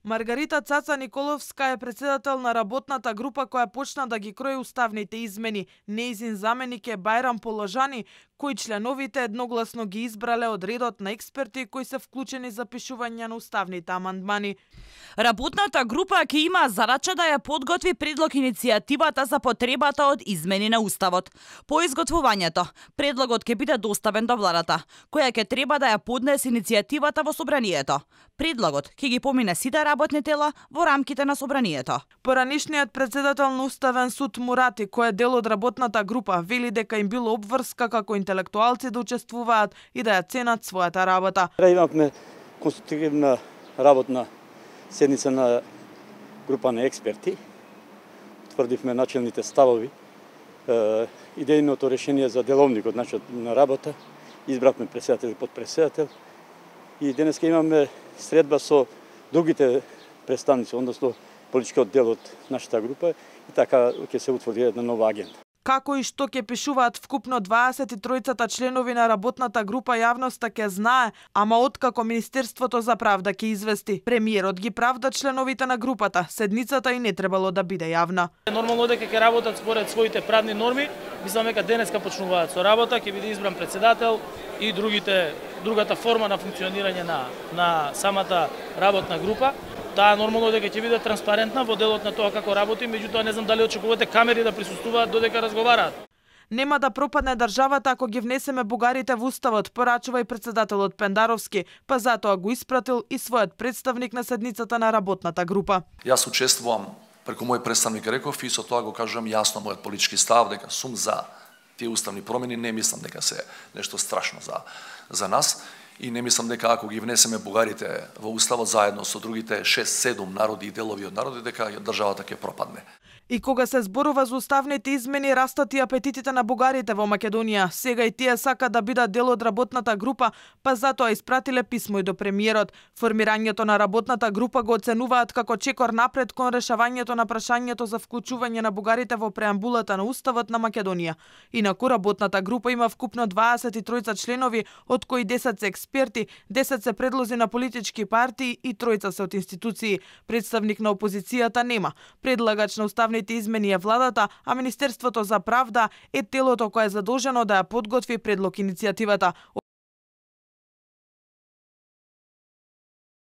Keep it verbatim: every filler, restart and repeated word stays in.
Маргарита Цаца Николовска е председател на работната група која почна да ги крои уставните измени. Неизин заменик е Бајрам Положани, кои членовите едногласно ги избрале од редот на експерти кои се вклучени за пишување на уставните амандмани. Работната група ќе има задача да ја подготви предлог иницијативата за потребата од измени на уставот. По изготвувањето, предлогот ќе биде доставен до владата, која ќе треба да ја поднесе иницијативата во собранието. Предлогот ќе ги помине сите работни тела во рамките на собранието. Поранишниот председател на Уставен суд Мурати, кој е дел од работната група, вели дека им било обврска како интелектуалци да учествуваат и да ја ценат својата работа. Имавме конструктивна работна седница на група на експерти. Тврдивме начелните ставови, идејното решение за деловникот, начинот на работа, избравме председател и подпредседател и денеска имаме средба со другите представници, односно политичкиот дел од нашата група и така ќе се утврди една нова агенда. Како и што ќе пишуваат вкупно дваесет и тројцата членови на работната група, јавноста ќе знае, ама откако Министерството за правда ќе извести. Премиерот ги правда членовите на групата, седницата и не требало да биде јавна. Нормално дека ќе работат според своите правни норми, мислам дека денеска почнуваат со работа, ќе биде избран председател и другите другата форма на функционирање на на самата работна група. Таа нормално дека ќе биде транспарентна во делот на тоа како работи, меѓутоа не знам дали очекувате камери да присуствуваат додека разговараат. Нема да пропадне државата ако ги внесеме бугарите во уставот, порачува и председателот Пендаровски, па затоа го испратил и својот представник на седницата на работната група. Јас учествувам преку мој представник реков и со тоа го кажувам јасно мојот политички став дека сум за тие уставни промени, не мислам дека се нешто страшно за за нас. И не мислам дека ако ги внесеме бугарите во уставот заедно со другите шест седум народи и делови од народи, дека државата ќе пропадне. И кога се зборува за уставните измени, растат и апетитите на бугарите во Македонија. Сега и тие сака да бидат дел од работната група, па затоа испратиле писмо и до премиерот. Формирањето на работната група го оценуваат како чекор напред кон решавањето на прашањето за вклучување на бугарите во преамбулата на уставот на Македонија. Инаку работната група има вкупно дваесет и тројца членови, од кои десет се експерти, десет се предлози на политички партии и тројца се од институции. Представник на опозицијата нема. Предлагач на уставните измени е владата, а Министерството за правда е телото кое е задолжено да ја подготви предлог иницијативата.